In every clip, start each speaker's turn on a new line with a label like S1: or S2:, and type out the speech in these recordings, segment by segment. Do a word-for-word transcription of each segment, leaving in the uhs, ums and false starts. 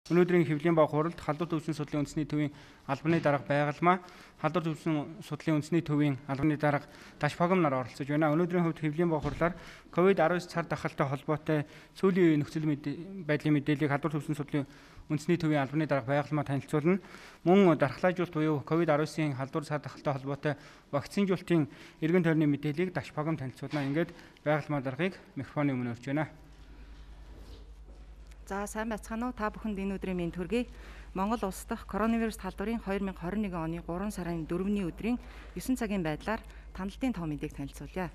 S1: Өнөөдрийн хэвлэлийн баг хуралд халдвар төвчний судлалын үндэсний төвийн албаны дарга байгалмаа халдвар төвчний судлалын үндэсний төвийн албаны дарга Даш Погом нар оролцож байна. Өнөөдрийн хувьд хэвлэлийн баг хурлаар ковид дасаав цар тахалтай холбоотой сүүлийн үеийн нөхцөл байдлын мэдээллийг халдвар төвчний судлалын үндэсний төвийн албаны дарга байгалмаа танилцуулна. Мөн дархлаажуулалт буюу ковид дасавын халдвар цар тахалтай холбоотой вакцинжуулалтын эргэн тойрны мэдээллийг Даш Погом танилцуулна. Ингээд байгалмаа даргыг микрофоны өмнө өрж байна.
S2: За сайн байцгаана уу? Та бүхэнд энэ өдрийн мэнд хүргэе. Монгол улс дахь коронавирус халдварын две тысячи двадцать один оны гурван сарын дөрөвний өдрийн нine цагийн байдлаар таналтын тоо мэдээг танилцуулъя.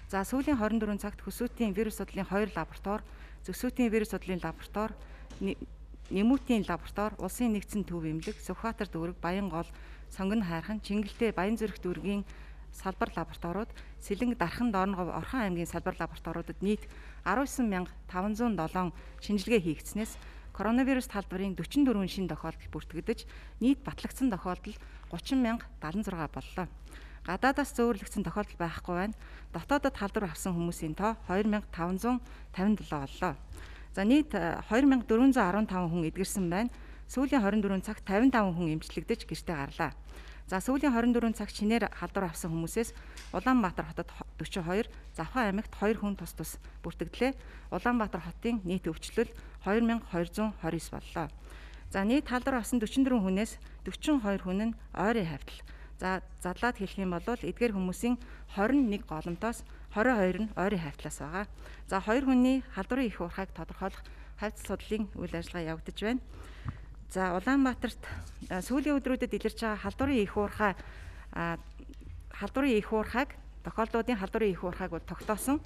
S2: За сүүлийн двадцать четыре цагт хөсөөтийн вирус судлалын хоёр лаборатори, зөвсөөтийн вирус судлалын лаборатори, нэмүүдийн лаборатори, улсын нэгдсэн төв эмнэлэг, Сүхбаатар дүүрэг, Баянгол, Сонгон хайрхан, Чингэлтэй, Баянзүрх дүүргийн салбар лабораториуд, Сэлэнг, Дархан, Доорногов, Орхон аймгийн салбар лабораториудад нийт nineteen thousand five hundred seven шинжилгээ хийгдснээс коронавирус халдварын forty-four шинэ тохиолдол бүртгэгдэж, нийт батлагдсан тохиолдол thirty thousand seventy-six боллоо. Гадаадаас зөөвөрлөгдсөн тохиолдол байхгүй байна. Дотоодод халдвар авсан хүмүүсийн тоо two thousand five hundred fifty-seven боллоо. За нийт two thousand four hundred fifteen хүн эдгэрсэн байна. Сүүлийн twenty-four цагт fifty-five хүн эмчлэгдэж гэртээ гарлаа. За сүүлийн twenty-four цагт шинээр халдвар авсан хүмүүсээс Улаанбаатар хотод forty-two, Завхан аймагт two хүн тус тус бүртгэлээ. Улаанбаатар хотын нийт өвчлөл two thousand two hundred twenty-nine боллоо. За нийт халдвар авсан forty-four хүнээс forty-two хүн нь ойрын хавьтал. За задлаад хэлэх юм бол эдгээр хүмүүсийн twenty-one голомтоос twenty-two нь ойрын хавьтлаас байгаа. За two хүний халдварын их уурхайг тодорхойлох хавьтал судлалын үйл ажиллагаа явагдаж байна. За Улаанбаатарт сүүлийн өдрүүдэд илэрч байгаа халдварын их уурхай халдварын их уурхайг тохиолдлуудын халдварын их уурхайг бол тогтоосон.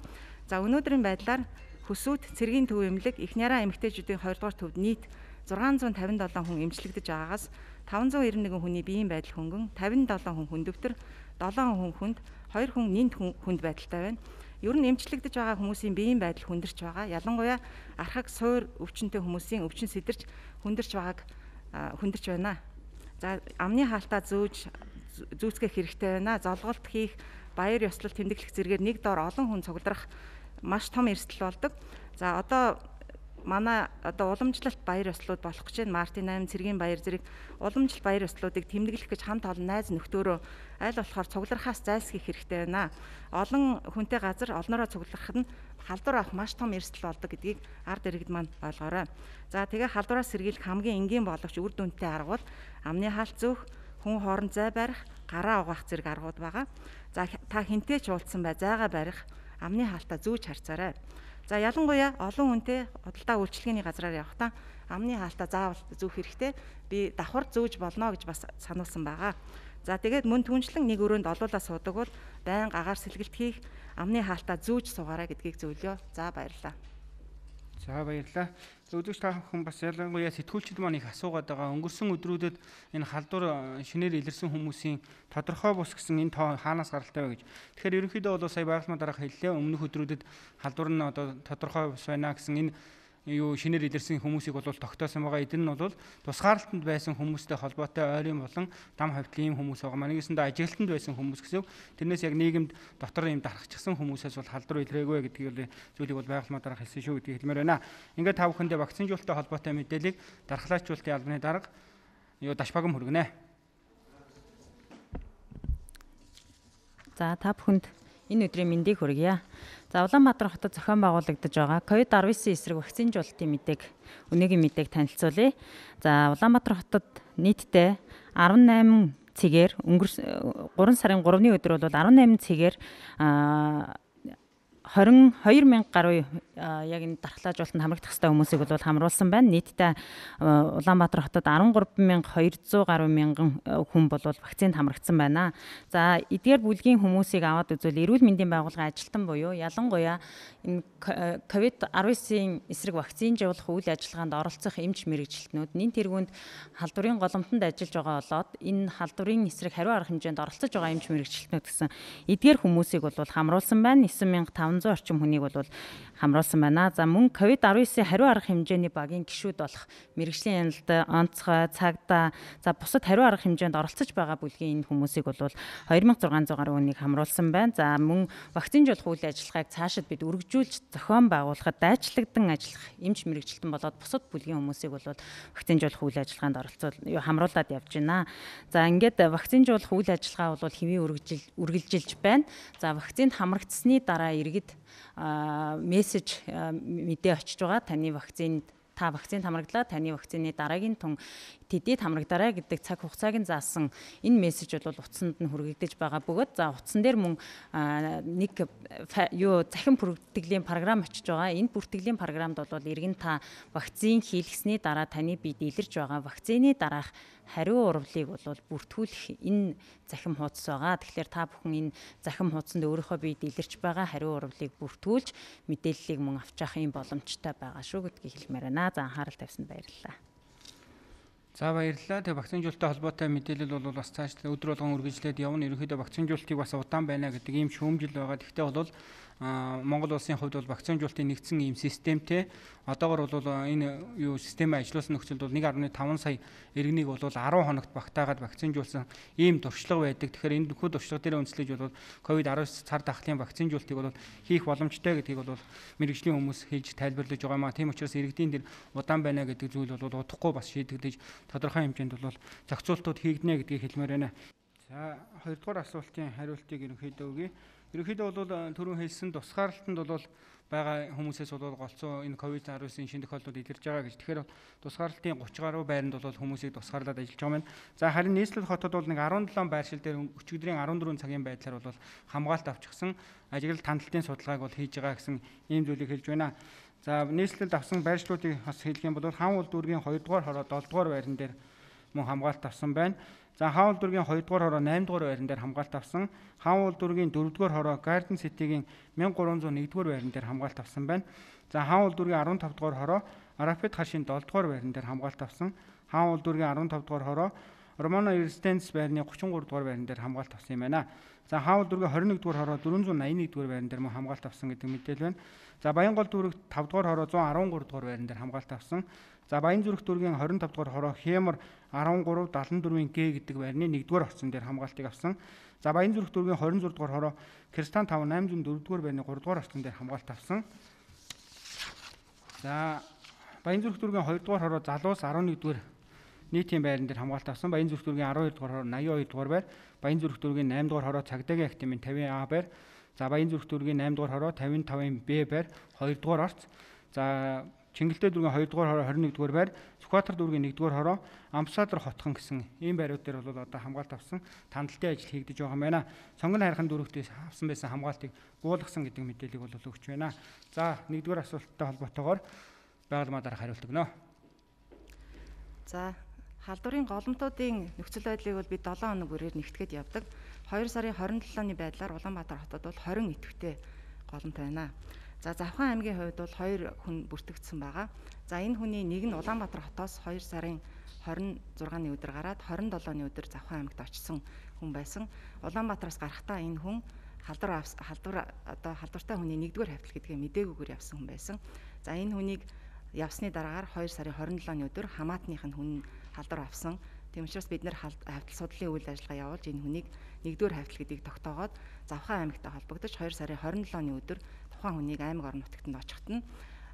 S2: За өнөөдрийн байдлаар Хөсөөт, Цэргийн төв эмнэлэг, Ихняраа эмэгтэйчүүдийн two дугаар төвд нийт six hundred fifty-seven хүн эмчлэгдэж байгаагаас five hundred ninety-one хүний биеийн байдал хөнгөн, fifty-seven хүн хүндөвтөр, seven хүн хүнд, two хүн нинт хүнд байдалтай байна. Ер нь эмчлэгдэж байгаа хүмүүсийн биеийн байдал хүндэрч байгаа. Ялангуяа архаг суур өвчнөд хүмүүсийн өвчин сэтэрч хүндэрч байгааг хүндэрч байна. За амны хаалтаа зөөж зүүцгэх хэрэгтэй байна. Золголт хийх, баяр ёслол тэмдэглэх зэргээр нэг доор олон хүн цугларах маш том эрсдэл болдог. За одоо манай одоо уламжлалт баяр ёслолууд болох гэж байна. Мартин eight Цэргийн баяр зэрэг уламжлалт баяр ёслолуудыг тэмдэглэх гэж хамт олон найз нөхдөөрөө аль болохоор цугларахаас зайлсхийх хэрэгтэй байна. Олон хүнтэй газар олноороо цугларах нь халдвар авах маш том эрсдэл болдог гэдгийг ард иргэд маань ойлгоорой. За тэгээ халдвараас сэргийлэх хамгийн энгийн боловч үр дүнтэй арга бол амны хаалт зөөх, хүн хооронд зай барих, гараа угаах зэрэг аргууд байгаа. За та хинтээ ч уулзсан бай, зайгаа барих, амны хаалтаа зүүж харцаарай. За ялангуяа олон хүнтэй худалдаа үйлчилгээний газраар явахдаа амны хаалтаа заавал зүүх хэрэгтэй. Би давхар зүүж болно гэж бас сануулсан байгаа. За тэгээд мөн түншлэн нэг өрөөнд олуулаа суудаг бол байнга агаар сэлгэлт хийх, амны хаалтаа зүүж суугаарай гэдгийг зөвлөё. За баярлалаа.
S1: За баярлалаа. Өдөрч та бүхэн бас ялангуяа сэтгүүлчид маань их асуугаад байгаа. Өнгөрсөн өдрүүдэд энэ халдвар шинээр илэрсэн хүмүүсийн тодорхой бус гэсэн энэ тоо хаанаас гаралтай вэ гэж. Тэгэхээр ерөнхийдөө бол сая байгалмаа дарга хэллээ. Өмнөх өдрүүдэд халдвар нь одоо тодорхой бус байна гэсэн энэ юу шинээр илэрсэн хүмүүсийг бол тогтоосон байгаа. Эдгээр нь бол тусгаарлалтанд байсан хүмүүстэй холбоотой ойрын болон дам хавьтлын ийм хүмүүс байгаа. Манайсандаа ажиглалтанд байсан хүмүүс гэсэн. Тэрнээс яг нийгэмд дотор ийм дарахчихсан хүмүүсээс бол халдвар илрээгүй гэдгийг зүйлийг бол байгалмаа дарга хэлсэн шүү гэдгийг хэлмээр байна. Ингээд та бүхэндээ вакцинжуулалттай холбоотой мэдээллийг дархлаачуулалтын албаны дарга юу Даш Погом хүргэнэ.
S3: За та бүхэнд энэ өдрийн мэндийг хүргье. За Улаанбаатар хотод зохион байгуулагдаж байгаа ковид nineteen эсрэг вакцинжуулалтын мэдээг өнөөгийн мэдээг танилцуулъя. За Улаанбаатар хотод нийтдээ eighteen цэгээр өнгөрсөн three сарын three-ны өдөр бол eighteen цэгээр twenty-two thousand гаруй яг энэ дархлаажуулалтанд хамрагдах хэвээр хүмүүсийг бол хамруулсан байна. Нийтдээ Улаанбаатар хотод thirty-three thousand two hundred гаруй мянган хүн бол вакцинд хамрагдсан байна. За эдгээр бүлгийн хүмүүсийг аваад үзвэл эрүүл мэндийн байгууллагын ажилтан буюу ялангуяа энэ ковид nineteen эсрэг вакцинжуулах үйл ажиллагаанд оролцох эмч мэрэгчлэтнүүд нэн тэргуунд халдварын голомтонд ажиллаж байгаа болоод энэ халдварын эсрэг хариу арга хэмжээнд оролцож байгаа эмч мэрэгчлэтнүүд гэсэн эдгээр хүмүүсийг бол хамруулсан байна. nine thousand five долоон зуун орчим хүнийг бол хамруулсан байна. За мөн ковид дасав хариу арга хэмжээний багийн гишүүд болох мэрэгжлийн яналт, онцгой, цагдаа, за бусад хариу арга хэмжээнд оролцож байгаа бүлгийн энэ хүмүүсийг бол хоёр мянган зургаан зуун гаруй хүнийг хамруулсан байна. За мөн вакцинжуулах үйл ажиллагааг цаашид бид үргэлжлүүлж зохион байгуулахад дайчлагдан ажиллах эмч мэрэгчлэлтэн болоод бусад бүлгийн хүмүүсийг бол вакцинжуулах үйл ажиллагаанд оролцуул хамруулад явж байна. За ингээд вакцинжуулах үйл ажиллагаа бол хэвийн үргэлжилж байна. За вакцинд хамрагдсны дараа иргэд мессеж мэдээ очиж байгаа. Таны вакцинд та вакцинд хамраглаа, таны вакцины дараагийн тун тэдэд хамрагдараа гэдэг цаг хугацааг нь заасан энэ мессеж бол утсанд нь хүргэгдэж байгаа бөгөөд за утсан дээр мөн нэг юу захин бүртгэлийн програм очиж байгаа. Энэ бүртгэлийн програмд бол иргэн та вакцин хийлгэсний дараа таны биед илэрж байгаа вакцины дараах хариу урвалыг бол бүртгүүлэх энэ захим хуудас байгаа. Тэгэхээр та бүхэн энэ захим хуудсанд өөрийнхөө биед илэрч байгаа хариу урвалыг бүртгүүлж мэдээллийг мөн авч явах юм боломжтой байгаа шүү гэдгийг хэлмээр байна. За анхаарал тавьсанд баярлалаа.
S1: За баярлалаа. Тэгээ вакцинжуулалттай холбоотой мэдээлэл бол бас цааш өдөр болгон үргэлжлээд явна. Ерөнхийдөө вакцинжуулалтыг бас удаан байна гэдэг ийм шүүмжил байгаа. Гэхдээ бол Монгол улсын хувьд бол вакцинжуулалтын нэгдсэн ийм системтэй одоогор бол энэ юу системээ ажилуулсан нөхцөлд бол нэг гаруй таван сая иргэнийг бол арван хоногт багтаагаад вакцинжуулсан ийм туршлага байдаг. Тэгэхээр энэ бүхэл туршлага дээр үндэслэж бол ковид дасав цар тахлын вакцинжуулалтыг бол хийх боломжтой гэдгийг бол мэрэгжлийн хүмүүс хэлж тайлбарлаж байгаа юм а. Тийм учраас иргэдийн дээр удаан байна гэдэг зүйл бол удахгүй бас шийдэгдэж тодорхой хэмжээнд бол зохицуултууд хийгднэ гэдгийг хэлмээр байна. За хоёрдугаар асуултын хариултыг ерөнхийдөө өгье. Ерөнхийдөө бол түрүүн хэлсэн тусгаарлалтанд бол байгаа хүмүүсээс бол голцоо энэ ковид дасавын шинэ тохиолдлууд илэрж байгаа гэж. Тэгэхээр тусгаарлалтын гучин гаруй байранд бол хүмүүсийг тусгаарлаад ажиллаж байгаа юм. За харин нийслэл хотод бол нэг арван долоон байршил дээр өчигдрийн арван дөрвөн цагийн байдлаар бол хамгаалалт авчихсан ажиглал тандалтын судалгааг бол хийж байгаа гэсэн ийм зүйлийг хэлж байна. За нийслэлд авсан байршлуудыг бас хэлэх юм бол хаан улд дүүргийн хоёрдугаар хороо долдугаар байран дээр мөн хамгаалалт авсан байна. За хаан улд дүүргийн хоёрдугаар хороо наймдугаар байран дээр хамгаалалт авсан. Хаан улд дүүргийн дөрөвдүгээр хороо Garden City-гийн мянга гурван зуун нэгдүгээр байран дээр хамгаалалт авсан байна. За хаан улд дүүргийн арван тавдугаар хороо Арапет хашийн долдугаар байран дээр хамгаалалт авсан. Хаан улд дүүргийн арван тавдугаар хороо Романо Эрстенс байрны гучин гурав дугаар байран дээр хамгаалалт авсан юм байна. За хаан улд дүүргийн хорин нэгдүгээр хороо дөрвөн зуун наян нэгдүгээр байран дээр мөн хамгаалалт авсан гэдэг мэдээлэл байна. За Баянгол дүүрэг тавдугаар хороо зуун арван гурав дугаар байран дээр хамгаалалт авсан. За Баянзүрх дүүргийн хорин тавд дугаар хороо Хэмэр арван гурав дадлан дөрвийн Г гэдэг байрны нэгдүгээр орцон дээр хамгаалтыг авсан. За Баянзүрх дүүргийн хорин зург дугаар хороо Кристан тав найман зуун дөрвдүгээр байрны гурав дугаар орцон дээр хамгаалт авсан. За Баянзүрх дүүргийн хоёр дугаар хороо Залуус арван нэгдүгээр нийтийн байран дээр хамгаалт авсан. Баянзүрх дүүргийн арван хоёр дугаар хороо наян хоёр дугаар байр, Баянзүрх дүүргийн найман дугаар хороо Цагдаагийн актимын тавин А байр, за Баянзүрх дүүргийн найман дугаар хороо тавин тавын Б байр, хоёр дугаар орц. За Чингэлтэй дүүргийн хоёр дугаар хороо хорин нэгдүгээр байр, Сүхбаатар дүүргийн нэгдүгээр хороо Амбассадор хотхон гэсэн ийм байрууд дээр бол одоо хамгаалт авсан тандалтын ажил хийгдэж байгаа юм байна. Сонгон хайрхан дүүрэгтээс авсан байсан хамгаалтыг буулгасан гэдэг мэдээллийг бол өгч байна. За нэгдүгээр асуулттай холбоотойгоор байгалмаа дараах хариулт өгнө.
S2: За халдварын голомтуудын нөхцөл байдлыг бол бид долоон хоног бүрээр нэгтгэхэд явдаг. хоёр сарын хорин долооны байдлаар Улаанбаатар хотод бол хорин идэвхтэй голомт байна. За Завхан аймгийн хувьд бол хоёр хүн бүртгэгдсэн байгаа. За энэ хүний нэг нь Улаанбаатар хотоос хоёр сарын хорин зургааны өдөр гараад хорин долооны өдөр Завхан аймагт очсон хүн байсан. Улаанбаатараас гарахдаа энэ хүн халдвар халдвар одоо халдвартай хүний нэгдүгээр хавтал гэдгээ мдэггүйгээр явсан хүн байсан. За энэ хүнийг явсны дараагаар хоёр сарын хорин долооны өдөр хамаатных нь хүн халдвар авсан. Тийм учраас бид нэр хавтал судлалын үйл ажиллагаа явуулж энэ хүнийг нэгдүгээр хавтал гэдгийг тогтоогоод Завхан аймагтай холбогдож хоёр сарын хорин долооны өдөр тухайн хүнийг аймаг орон нутагтанд очиход нь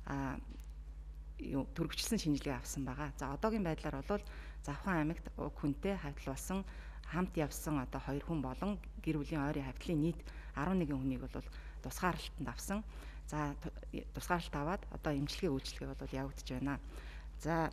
S2: а юу төрөгчлсөн шинжилгээ авсан байгаа. За одоогийн байдлаар бол Завхан аймагт уг хүнтэй хавтал болсон хамт явсан одоо хоёр хүн болон гэр бүлийн ойрын хавтлын нийт арван нэгэн хүнийг бол тусгаарлалтанд авсан. За тусгаарлалт аваад одоо эмчилгээ үйлчилгээ бол явагдаж байна. За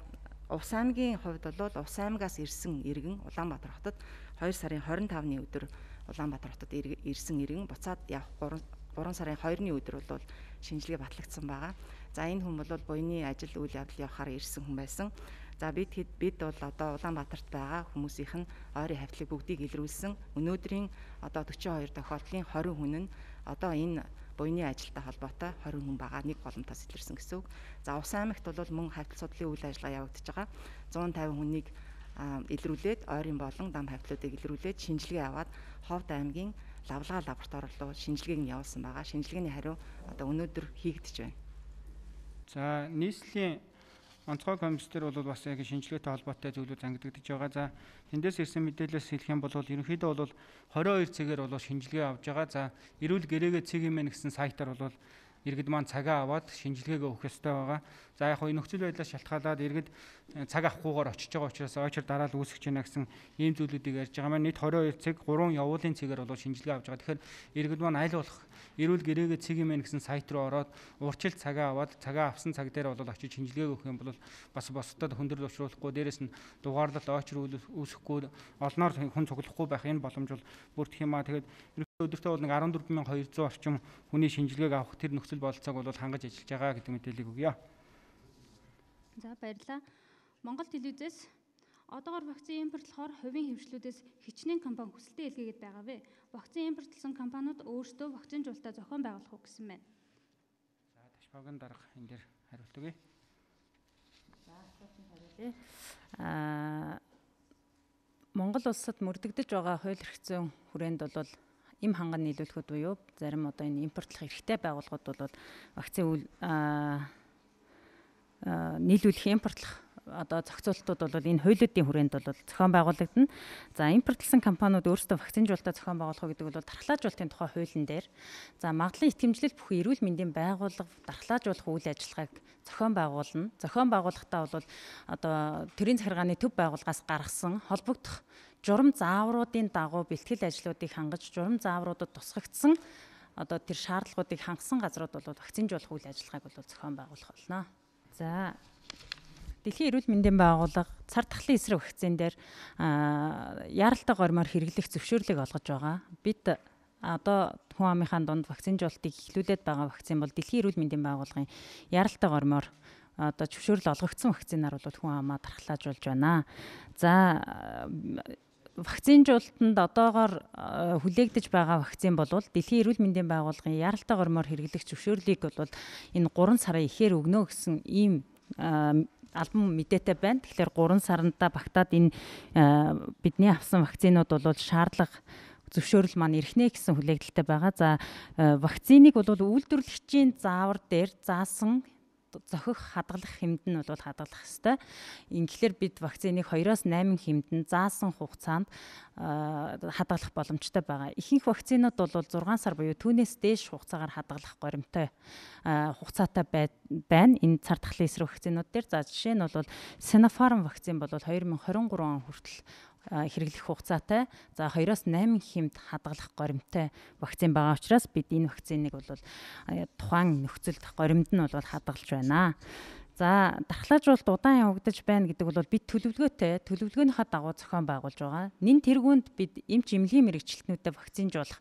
S2: Увс аймгийн хувьд бол Увс аймагаас ирсэн иргэн Улаанбаатар хотод хоёр сарын хорин тавны өдөр Улаанбаатар хотод ирсэн иргэн буцаад явах гурван сарын хоёрны өдөр бол шинжилгээ батлагдсан байгаа. За энэ хүн бол буйны ажил үйл явдал явахаар ирсэн хүн байсан. За бид бид бол одоо Улаанбаатарт байгаа хүмүүсийнх нь ойрын хавтлыг бүгдийг илрүүлсэн. Өнөөдрийн одоо forty-two тохиолдлын twenty хүн нь одоо энэ буйны ажилтай холбоотой twenty хүн байгаа нэг голомтоос илэрсэн гэсэн үг. За Увс аймагт бол мөн хавтал судлалын үйл ажиллагаа явагдаж байгаа. one fifty хүнийг илрүүлээд ойрын болон дам хавтлуудыг илрүүлээд шинжилгээ аваад Ховд аймгийн лавлгаа лаборатори руу шинжилгээг нь явуулсан байгаа. Шинжилгээний хариу одоо өнөөдөр хийгдэж байна.
S1: За нийслэлийн онцгой комиссдэр бол бас яг шинжилгээтэй холбоотой зүйлүүд ангидагдж байгаа. За тэндээс ирсэн мэдээлэлээс хэлэх юм бол ерөнхийдөө бол двадцать two цагаар бол шинжилгээ авж байгаа. За эрүүл гэрээгээ цэг юм гэсэн сайтаар бол иргэд маань цагаа аваад шинжилгээгээ өгөх ёстой байгаа. За яг хөө нөхцөл байдлаас шалтгаалаад иргэд цаг авахгүйгээр очиж байгаа учраас ойчор дараал үүсгэж байна гэсэн ийм зүйлүүдийг ярьж байгаа маань нийт двадцать two цаг гурван явуулын цэгээр бол шинжилгээ авж байгаа. Тэгэхээр иргэд маань аль болох эрүүл гэрээгээ цэг юм гэсэн сайт руу ороод урьдчилан цагаа аваад цагаа авсан цаг дээр бол очиж шинжилгээ өгөх юм бол бас босдод хөндрөл учруулахгүй, дээрэс нь дугаарлалт ойчор үүсэхгүй, олноор хүн цуглахгүй байх энэ боломж бол бүрдэх юм аа. Тэгээд өдөртөө бол нэг fourteen thousand two hundred орчим хүний шинжилгээг авах тэр нөхцөл бололцоог бол хангаж ажиллаж байгаа гэдэг мэдээллийг өгье.
S4: За баярлалаа. Монгол телевизээс одоогоор вакцины импортлохоор хувийн хэмжлүүдээс хичнээн компани хүсэлтээ илгээгээд байгаа вэ? Вакцины импортлсон компаниуд өөрсдөө вакцинжуулалтаа зохион байгуулах уу гэсэн байна.
S1: За Ташбагийн дарга энэ дээр хариулт өгье.
S3: За асуултанд хариулъя. Аа Монгол улсад мөрдөгдөж байгаа хууль эрх зүйн хүрээнд бол им ханган нийлүүлэхэд буюу зарим одоо энэ импортлох эрхтэй байгууллагууд бол вакцины үйл нийлүүлэх импортлох одоо зохицуултууд бол энэ хуулиудын хүрээнд бол зохион байгуулагдана. За импортлсон компаниуд өөрсдөө вакцинжуулалтаа зохион байгуулах гэдэг бол дархлаажуулалтын тухай хуулийн дээр за магадлан итгэмжлэл бүхэн эрүүл мэндийн байгууллага дархлаажуулах үйл ажиллагааг зохион байгуулна. Зохион байгуулахдаа бол одоо төрийн захиргааны төв байгууллагаас гаргасан холбогдох журам заавруудын дагуу бэлтгэл ажлуудыг хангаж журам заавруудад тусгагдсан одоо тэр шаардлагуудыг хангасан газрууд бол вакцинжуулах үйл ажиллагааг бол зохион байгуулах болно. За Дэлхийн эрүүл мэндийн байгууллага цар тахлын эсрэг вакцин дээр яаралтай гормоор хэрэглэх зөвшөөрлийг олгож байгаа. Бид одоо хүн амынхаа дунд вакцинжуулалтыг эхлүүлээд байгаа вакцин бол Дэлхийн эрүүл мэндийн байгууллагын яаралтай гормоор одоо зөвшөөрөл олгогдсон вакцинаар бол хүн амаа дархлаажуулж байна. За вакцинжуулалтанд одоогоор хүлээгдэж байгаа вакцин бол Дэлхийн эрүүл мэндийн байгууллагын яаралтай гормоор хэрэглэх зөвшөөрлийг бол энэ гурван сарын ихээр өгнө гэсэн ийм албан мэдээтэй байна. Тэгэхээр гурван саранда багтаад энэ бидний авсан вакцинууд бол шаардлага зөвшөөрөл маань ирхнэ гэсэн хүлээлттэй байгаа. За вакциныг бол үйлдвэрлэгчийн заавар дээр заасан зохих хадгалах хэмнэн нь бол хадгалах ёстой. Ингээр бид вакциныг two-аас eight хэмнэн заасан хугацаанд хадгалах боломжтой байгаа. Ихэнх вакцинууд бол six сар буюу түүнээс дээш хугацаагаар хадгалах горимтой хугацаатай байна. Энэ цар тахлын эсрэг вакцинууд дээр за жишээ нь бол Sinopharm вакцин бол twenty twenty-three он хүртэл хэрэглэх хугацаатай. За two-аас eight хэмт хадгалах горимтой вакцин байгаа учраас бид энэ вакциныг бол тухайн нөхцөлд горимд нь бол хадгалж байна. За дархлаажуулалт удаан явагдаж байна гэдэг бол бид төлөвлөгөөтэй төлөвлөгөөнийхөө дагуу зохион байгуулж байгаа. Нэн тэргуунд бид эмч эмнэлгийн мэрэгчлэтнүүдэд вакцинжуулах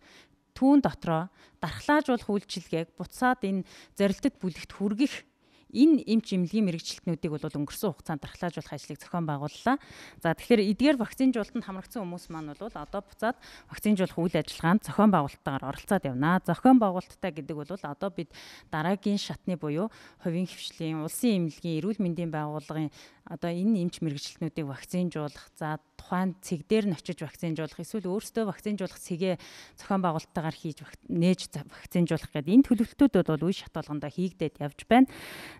S3: түүн дотроо дархлаажуулах үйлчилгээг буцаад энэ зорилтод бүлэгт хүргэх энэ эмч эмнэлгийн мэрэгчлэтнүүдийг бол өнгөрсөн хугацаанд дархлаажуулах ажлыг зохион байгууллаа. За тэгэхээр эдгээр вакцинжуулалтанд хамрагдсан хүмүүс маань бол одоо буцаад вакцинжуулах үйл ажиллагаанд зохион байгуулалттайгаар оролцоод явна. Зохион байгуулалттай гэдэг бол одоо бид дараагийн шатны буюу хувийн хвшлийн, улсын эмнэлгийн, эрүүл мэндийн байгууллагын одоо энэ эмч мэрэгчлэтнүүдийг вакцинжуулах, за тухайн цэг дээр нь очиж вакцинжуулах, эсвэл өөрсдөө вакцинжуулах цэгээ зохион байгуулалттайгаар хийж нээж вакцинжуулах гэдэг энэ төлөвлөлтүүд бол үе шат болгондоо хийгдээд явж байна.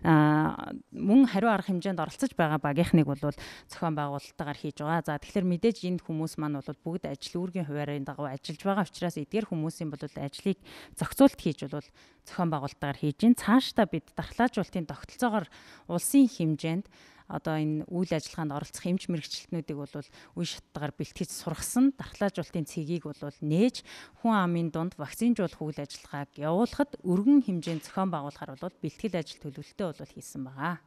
S3: А мөн хариу арга хэмжээнд оролцож байгаа багийнхныг бол зохион байгуулалттайгаар хийж байгаа. За тэгэхээр мэдээж энэ хүмүүс маань бол бүгд ажил үүргийн хуваарийн дагуу ажиллаж байгаа учраас эдгээр хүмүүсийн бол ажлыг зохицуулт хийж бол зохион байгуулалттайгаар хийж гин. Цаашдаа бид дархлаажуулалтын тогтолцоогоор улсын хэмжээнд одоо энэ үйл ажиллагаанд оролцох эмч мэрэгчлэтнүүдийг бол үе шаттайгаар бэлтгэж сургасан дархлаажуулалтын цэгийг бол нээж хүн амын дунд вакцинжуулах үйл ажиллагааг явуулахад өргөн хэмжээнд зохион байгуулахаар бол бэлтгэл ажил төлөвлөлтөө бол хийсэн байгаа.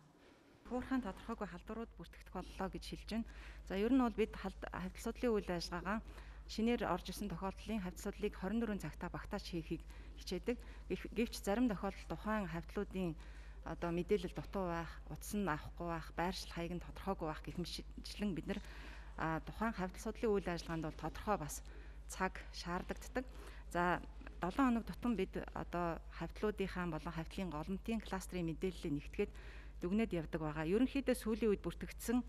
S2: Хуурхайн тодорхойгүй халдварууд бүртгэгдэх боллоо гэж хэлж байна. За ер нь бол бид хавьтал судлалын үйл ажиллагаа шинээр орж ирсэн тохиолдлын хавьтал судлалыг twenty-four цагтаа багтааж хийхийг хичээдэг. Гэвч зарим тохиолдолд тухайн хавьтлуудын одоо мэдээлэл дутуу байх, утас нь авахгүй байх, байршил хаяг нь тодорхойгүй байх гэх мэтчлэн бид нэр тухайн хавьтал судлалын үйл ажиллагаанд бол тодорхой бас цаг шаардлагаддаг. За seven хоног тутам бид одоо хавьтлуудынхаа болон хавьтлын голомтын кластерын мэдээллийг нэгтгээд дүгнээд явдаг байгаа. Ерөнхийдөө сүүлийн үед бүртгэгдсэн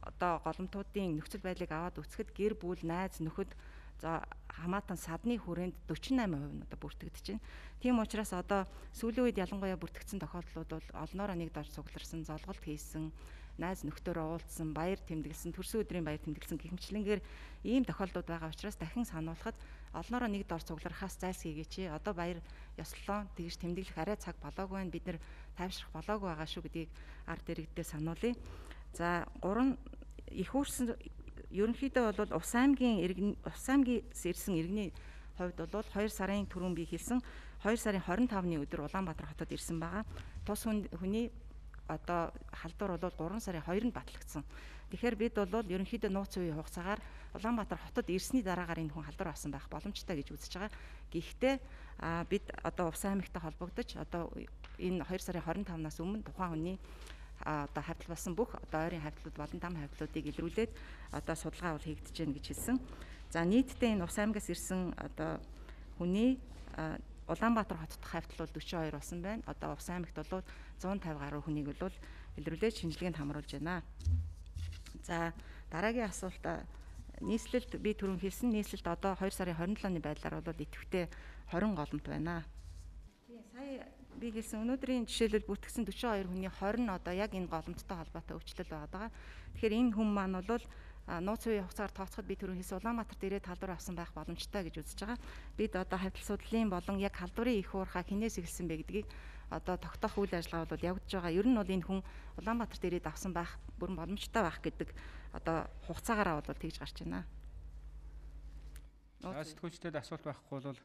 S2: одоо голомтуудын нөхцөл байдлыг аваад үзэхэд гэр бүл, найз, нөхөд за хамаатан садны хүрээнд forty-eight percent нь одоо бүртгэгдэж байна. Тийм учраас одоо сүүлийн үед ялангуяа бүртгэгдсэн тохиолдлууд бол олноороо нэг дор цугларсан, золголт хийсэн, найз нөхдөөрөө уулзсан, баяр тэмдэглэсэн, төрсөн өдрийн баяр тэмдэглэсэн гихмчлэнгээр ийм тохиолдлууд байгаа учраас дахин сануулхад олноороо нэг дор цугларахаас зайлсхийгээч. Одоо баяр ёслолоо тэгж тэмдэглэх арай цаг болоогүй байна. Бид нэр тайвшрах болоогүй байгаа шүү гэдгийг ард иргэдэд сануулъя. За гурван их үүрсэн ерөнхийдөө бол Увс аймгийн иргэн Увс аймгээс ирсэн иргэний хувьд бол two сарын түрүүн би хэлсэн two сарын twenty-five-ны өдөр Улаанбаатар хотод ирсэн байгаа. Тус хүний одоо халдвар бол three сарын two-нд батлагдсан. Тэгэхээр бид бол ерөнхийдөө нууц үеийн хугацаагаар Улаанбаатар хотод ирсний дараагаар энэ хүн халдвар авсан байх боломжтой гэж үзэж байгаа. Гэхдээ бид одоо Увс аймагтай холбогдож одоо энэ two сарын twenty-five-наас өмнө тухайн хүний одоо хавьтал болсон бүх одоо ойрын хавьтлууд болон там хавьтлуудыг илрүүлээд одоо судалгаа бол хийгдэж байна гэж хэлсэн. За нийтдээ энэ Увс аймгаас ирсэн одоо хүний Улаанбаатар хотод хавьтал бол forty-two болсон байна. Одоо Увс аймагт бол one fifty гаруй хүнийг бол илрүүлээд шинжилгээнд хамруулж байна. За дараагийн асуулт нийслэлд би түрүүн хэлсэн нийслэлд одоо two сарын twenty-seven-ны байдлаар бол идэвхтэй twenty голомт байна. Тийм сая би хэлсэн өнөөдрийн жишээлбэл бүртгэгдсэн forty-two хүний twenty нь одоо яг энэ голомттой холбоотой өвчлөл байгаа. Тэгэхээр энэ хүн маань бол нууц үеийн хугацаар тооцоход би түрүүн хэлсэн Улаанбаатарт ирээд халдвар авсан байх боломжтой гэж үзэж байгаа. Бид одоо хавьтал судлалын болон яг халдварын их уурхаа хинээс эхэлсэн бэ гэдгийг одоо тогтоох үйл ажиллагаа бол явагдаж байгаа. Ер нь бол энэ хүн Улаанбаатарт ирээд авсан байх бүрэн боломжтой байх гэдэг одоо хугацаагаараа бол тэгж гарч байна.
S1: Сэтгүүлчдэд асуулт байхгүй бол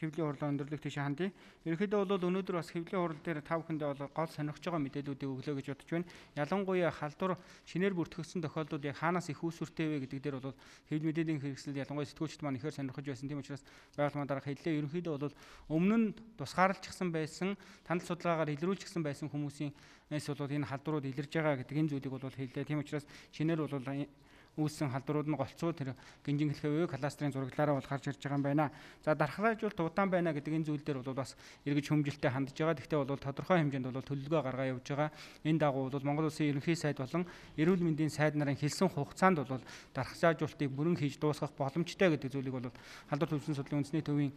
S1: хэвлэлийн хурлаа өндөрлөх тийш хандъя. Ерөнхийдөө бол өнөөдөр бас хэвлэлийн хурал дээр та бүхэндээ бол гол сонирхож байгаа мэдээллүүдийг өглөө гэж бодож байна. Ялангуяа халдвар шинээр бүртгэгдсэн тохиолдлууд яг хаанаас их үүсвэртэй вэ гэдэг дээр бол хэвлэл мэдээллийн хэрэгсэл ялангуяа сэтгүүлчд маань ихээр сонирхож байсан. Тийм учраас байгууллагын дарга хэллээ. Ерөнхийдөө бол өмнө нь тусгаарлажсан байсан, танил судалгаагаар илрүүлжсэн байсан хүмүүсийн эс бол энэ халдварууд илэрж байгаа гэдэг энэ зүйлийг бол хэллээ. Тийм учраас шинээр бол үүссэн халдварууд нь голцоо тэр гинжин хэлхээ кластрын зураглаараа бол гарч ирж байгаа юм байна. За дархлаажуулалт удаан байна гэдэг энэ зүйл дээр бол бас эргэж хүмжилтэд хандж байгаа. Гэхдээ бол тодорхой хэмжээнд бол төлөвлөгөө гаргаа явуулж байгаа. Энэ дагуу бол Монгол Улсын ерөнхий сайд болон эрүүл мэндийн сайд нарын хэлсэн хугацаанд бол дархлаажуулалтыг бүрэн хийж дуусгах боломжтой гэдэг зүйлийг бол халдвар төвчний судлалын үндэсний төвийн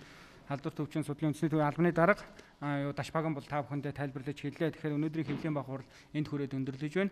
S1: халдвар төвчний судлалын үндэсний төвийн албаны дарга юу Дашбаган бол та бүхэндээ тайлбарлаж хэллээ. Тэгэхээр өнөөдрийн хэвлэлийн баг хурал энд хүрээд өндөрлөж байна.